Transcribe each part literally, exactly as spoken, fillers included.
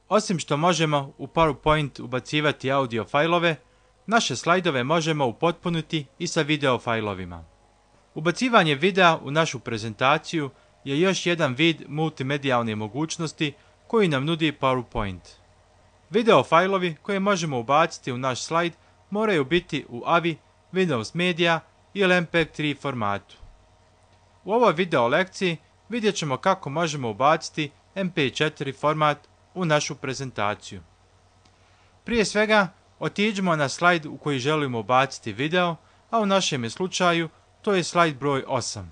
Osim što možemo u PowerPoint ubacivati audio fajlove, naše slajdove možemo upotpuniti i sa video fajlovima. Ubacivanje videa u našu prezentaciju je još jedan vid multimedijalne mogućnosti koji nam nudi PowerPoint. Video fajlovi koje možemo ubaciti u naš slajd moraju biti u A V I, Windows Media ili M P tri formatu. U ovoj video lekciji vidjet ćemo kako možemo ubaciti M P četiri format u našu prezentaciju. Prije svega, otiđimo na slajd u koji želimo ubaciti video, a u našem slučaju to je slajd broj osam.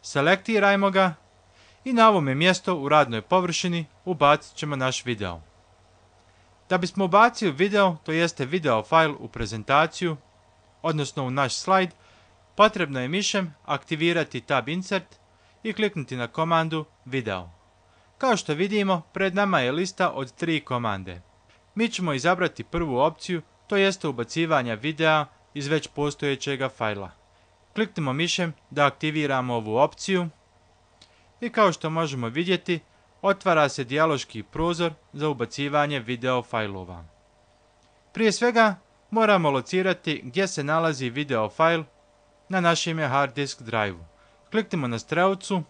Selektirajmo ga i na ovome mjestu u radnoj površini ubacit ćemo naš video. Da bismo ubacili video, to jeste video fajl u prezentaciju, odnosno u naš slajd, potrebno je mišem aktivirati tab Insert i kliknuti na komandu Video. Kao što vidimo, pred nama je lista od tri komande. Mi ćemo izabrati prvu opciju, to jeste ubacivanja videa iz već postojećega fajla. Kliknimo mišem da aktiviramo ovu opciju i kao što možemo vidjeti, otvara se dijaloški prozor za ubacivanje video fajlova. Prije svega moramo locirati gdje se nalazi video fajl na našem hard disk drive-u. Kliknimo na strelcu,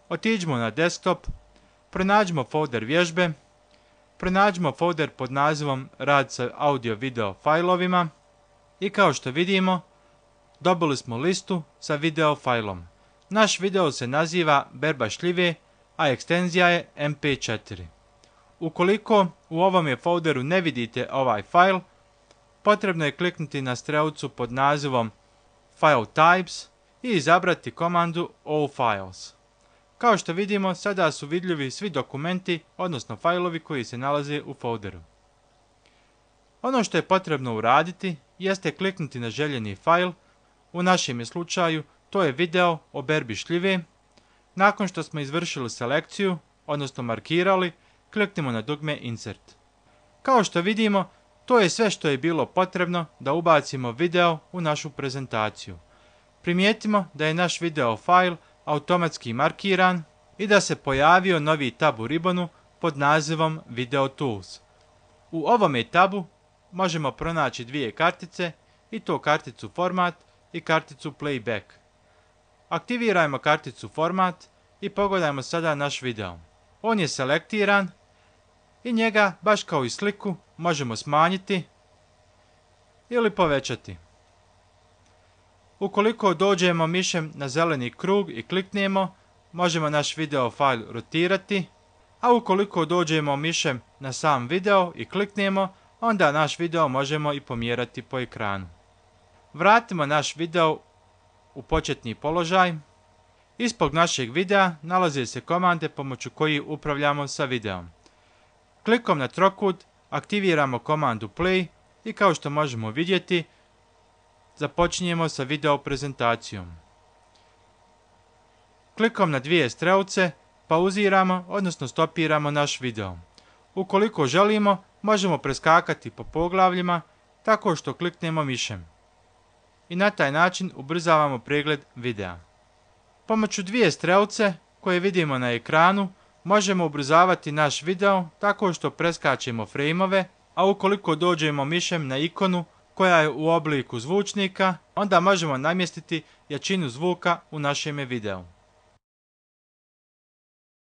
otiđimo na desktop, pronađimo folder vježbe, pronađimo folder pod nazivom Rad sa audio video fajlovima i kao što vidimo, dobili smo listu sa video fajlom. Naš video se naziva Berba šljive, a ekstenzija je M P četiri. Ukoliko u ovome folderu ne vidite ovaj fajl, potrebno je kliknuti na strelcu pod nazivom File Types i izabrati komandu All Files. Kao što vidimo, sada su vidljivi svi dokumenti, odnosno fajlovi koji se nalaze u folderu. Ono što je potrebno uraditi jeste kliknuti na željeni fajl, u našem slučaju to je video o berbi šljive. Nakon što smo izvršili selekciju, odnosno markirali, kliknimo na dugme Insert. Kao što vidimo, to je sve što je bilo potrebno da ubacimo video u našu prezentaciju. Primijetimo da je naš video fajl automatski markiran i da se pojavio novi tab u ribonu pod nazivom Video Tools. U ovome tabu možemo pronaći dvije kartice, i to karticu Format i karticu Playback. Aktivirajmo karticu Format i pogledajmo sada naš video. On je selektiran i njega, baš kao i sliku, možemo smanjiti ili povećati. Ukoliko dođemo mišem na zeleni krug i kliknemo, možemo naš video fajl rotirati, a ukoliko dođemo mišem na sam video i kliknemo, onda naš video možemo i pomjerati po ekranu. Vratimo naš video u početni položaj. Ispod našeg videa nalaze se komande pomoću kojih upravljamo sa videom. Klikom na trokut aktiviramo komandu Play i kao što možemo vidjeti, započinjemo sa video prezentacijom. Klikom na dvije strelce pauziramo, odnosno stopiramo naš video. Ukoliko želimo, možemo preskakati po poglavljima tako što kliknemo mišem. I na taj način ubrzavamo pregled videa. Pomoću dvije strelce koje vidimo na ekranu možemo ubrzavati naš video tako što preskačemo frejmove, a ukoliko dođemo mišem na ikonu koja je u obliku zvučnika, onda možemo namjestiti jačinu zvuka u našem videu.